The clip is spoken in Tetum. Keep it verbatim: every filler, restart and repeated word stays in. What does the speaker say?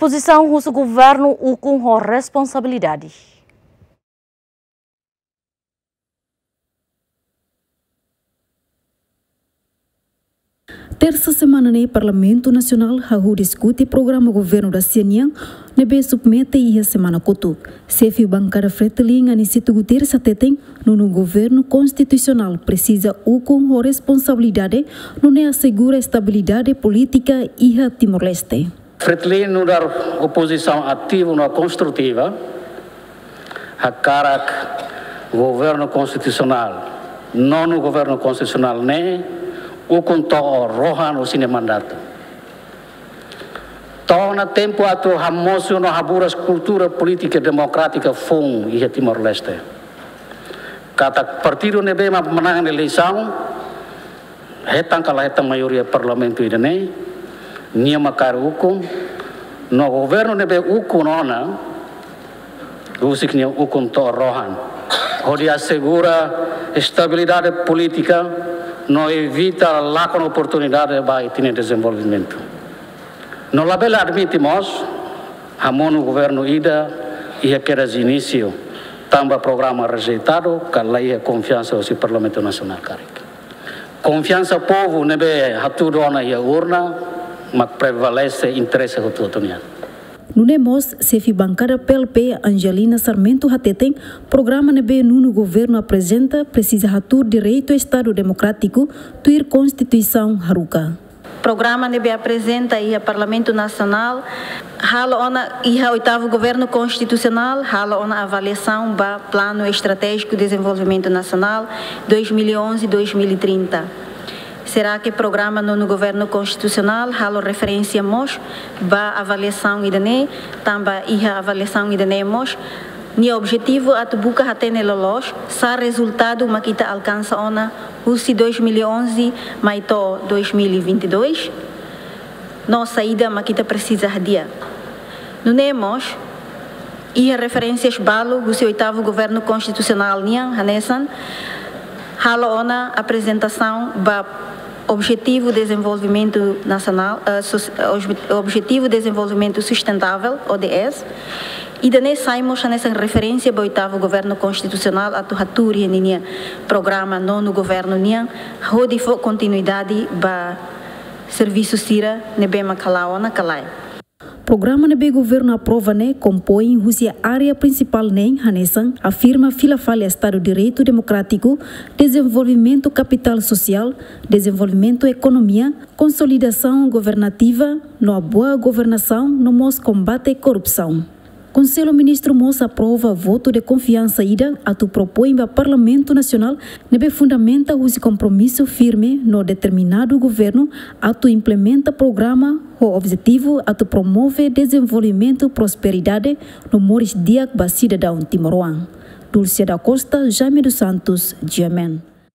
Pozisaun husu governu ukun ho responsabilidade. Tersa semana ne'e Parlamentu Nasionál hahú diskute programa governu da-sia nian ne'ebé submete iha semana kotuk. Xefe bankada Fretilin Aniceto Guterres hateten, nonu governu konstitusionál presiza ukun ho responsabilidade, nune'e asegura estabilidade polítika iha Timor-Leste. Fretilin nu'udar opozisaun ativa no konstrutiva hakarak governu konstitusionál, nonu governu konstitusionál ne'e ukun to'o rohan husi nia mandatu. To'o ona tempu atu hamosu no haburas kultura polítika demokrátika foun iha Timor-Leste. Katak partidu ne'ebé mak manán eleisaun, hetan ka la hetan maioria parlamentu ida-ne'e, nia mak kaer ukun, no governu ne'ebé ukun ona, husik nia ukun to'o rohan, hodi asegura estabilidade polítika no evita lakon oportunidade ba ita-nia dezenvolvimentu. No labele admite mós hamonu governu ida iha kedas inísiu, tanba programa rejeitadu, ka la iha konfiansa husi Parlamentu Nasionál karik. Konfiansa povu ne'ebé hatudu ona iha urna mak prevalese interese hotu-hotu nian. Nune'e mós, xefe bankada P L P, Angelina Sarmento hateten, programa ne'ebé nonu governu aprezenta presiza hatuur direitu Estadu Demokrátiku tuir Konstituisaun haruka. Programa ne'ebé aprezenta iha Parlamentu Nasionál, halo ona iha oitavu governu konstitusionál, halo ona avaliasaun ba Planu Estratéjiku Dezenvolvimentu Nasionál dois mil e onze, dois mil e trinta. Será que programa nonu governu konstitusionál halo referénsia mós ba avaliasaun ida-ne'e, tanba iha avaliasaun ida-ne'e mós nia objetivu atu buka hatene loloos sá rezultadu mak ita alkansa ona husi dois mil e onze mai to'o dois mil e vinte e dois, no saida mak ita presiza hadi'a. Nune'e mós, iha referénsias balu husi oitavu governu konstitusionál nian, hanesan halo ona aprezentasaun ba Objetivu Dezenvolvimentu Nasionál, eh, sus-, eh, obje-, Objetivu Dezenvolvimentu Sustentável, O D S. Ida-ne'e sai mós hanesan referénsia ba oitavu governu konstitusionál atu hatuur iha ninia programa nonu governu nian, hodi fó kontinuidade ba servisu sira ne'ebé mak hala'o ona ka lae. Programa ne'ebé governu aprova ne'e kompoin husi área prinsipál neen hanesan afirma fila fali Estadu Direitu Demokrátiku, dezenvolvimentu kapitál sosiál, dezenvolvimentu ekonomia, konsolidasaun governativa, no boa governasaun, no mós kombate korrupsaun. Konsellu Ministru mós aprova votu de konfiansa ida atu propoin ba Parlamentu Nasionál ne'ebé fundamenta husi kompromisu firme no determinadu governu atu implementa programa ho objetivu atu promove dezenvolvimentu, prosperidade no moris di'ak ba sidadaun timoroan. Dulce da Costa, Jaime dos Santos, G M N.